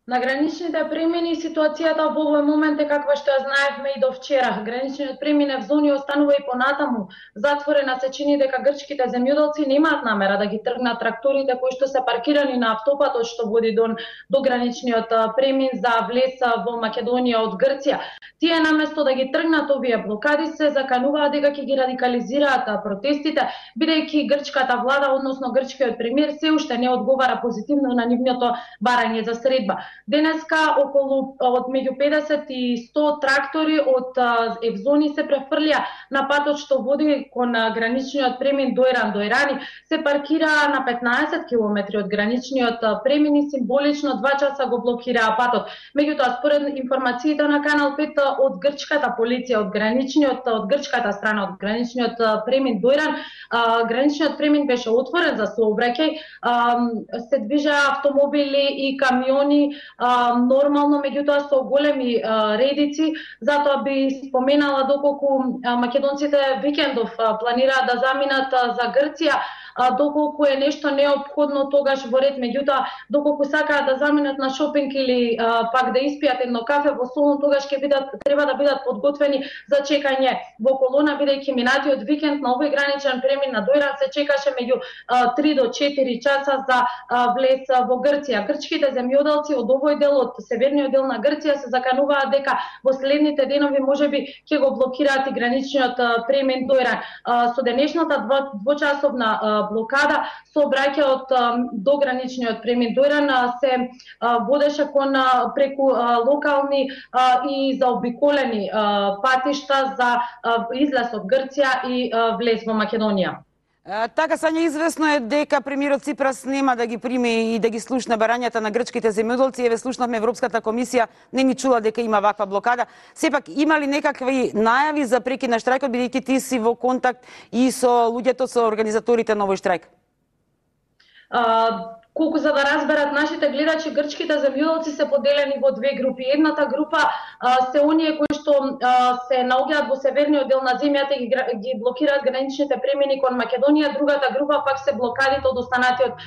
На граничните премини ситуацијата во овој момент е каква што ја знаевме и до вчера. Граничниот премин в зони останува и понатаму затворена, се чини дека грчките земјоделци немаат намера да ги тргнат тракторите кои што се паркирани на автопатот што води до граничниот премин за влез во Македонија од Грција. Тие наместо да ги тргнат овие блокади се закануваат дека ќе ги радикализираат протестите, бидејќи грчката влада, односно грчкиот премиер, се уште не одговара позитивно на нивното барање за средба. Денеска околу од меѓу 50 и 100 трактори од Евзони се префрлија на патот што води кон граничниот премин Дојран-Дојрани, се паркираа на 15 километри од граничниот премин и символично 2 часа го блокираа патот. Меѓутоа, според информациите на Канал 5 од грчката полиција, од грчката страна, од граничниот премин Дојран, граничниот премин беше отворен за сообраќај, се движеа автомобили и камиони нормално, меѓутоа со големи редици. Затоа би споменала доколку македонците викендов планираат да заминат за Грција, доколку е нешто неопходно тогаш во ред, меѓутоа доколку сакаат да заминат на шопинг или пак да испијат едно кафе во Солун, тогаш ќе треба да бидат подготвени за чекање во колона, бидејќи минатиот викенд на овој граничен премин на Дојран се чекаше меѓу 3 до 4 часа за влез во Грција. Грчките земјоделци од овој дел, од северниот дел на Грција, се закануваат дека во следните денови можеби ќе го блокираат и граничниот премин Дојран. Со денешната двочасовна блокада сообраќајот до граничниот премин Дојран се водеше кон преку локални и заобиколени патишта за излез од Грција и влез во Македонија. Така, Сања, известно е дека премиерот Ципрас нема да ги прими и да ги слушне барањата на грчките земјоделци. Еве, слушнавме Европската комисија не ни чула дека има ваква блокада. Сепак, има ли некакви најави за прекид на штрајкот, бидејќи ти си во контакт и со луѓето, со организаторите на овој штрајк? Колку за да разберат нашите гледачи, грчките земјоделци се поделени во две групи. Едната група се оние кои што се наоѓаат во северниот дел на земјата и ги блокираат граничните премини кон Македонија, другата група пак се блокадите од останатиот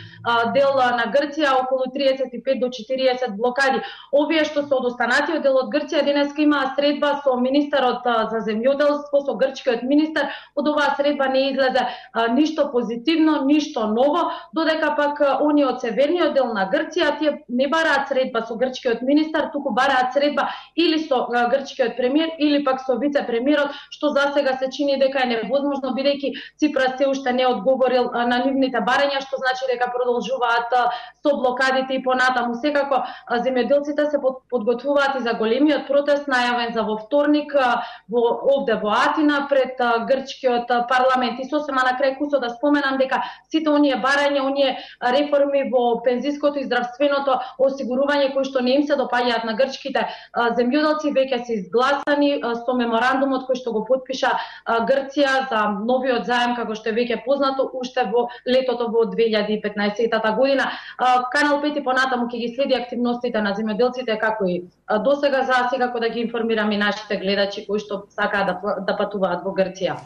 дел на Грција, околу 35 до 40 блокади. Овие што се од останатиот дел од Грција денеска имаа средба со министерот за земјоделство, со грчкиот министер. Од оваа средба не излезе ништо позитивно, ништо ново, додека пак оние од северниот дел на Грција, тие не бараат средба со грчкиот министер, туку бараат средба или со грчкиот премиер или пак со вице-премиерот, што засега се чини дека е невозможно, бидејќи Ципрас се уште не одговорил на нивните барања, што значи дека продолжуваат со блокадите и понатаму. Секако земјоделците се подготвуваат и за големиот протест најавен за во вторник овде во Атина пред грчкиот парламент. И сосема на крај кусо да споменам дека сите оние барања, оние реформи во пензиското и здравственото осигурување кои што не им се допаѓаат на грчките земјоделци веќе се изгласани со меморандумот кој што го потпиша Грција за новиот заем, како што е веќе познато, уште во летото во 2015 година. Канал 5 понатаму ќе ги следи активностите на земјоделците како и досега, за секако да ги информираме нашите гледачи кои што сакаат да патуваат во Грција.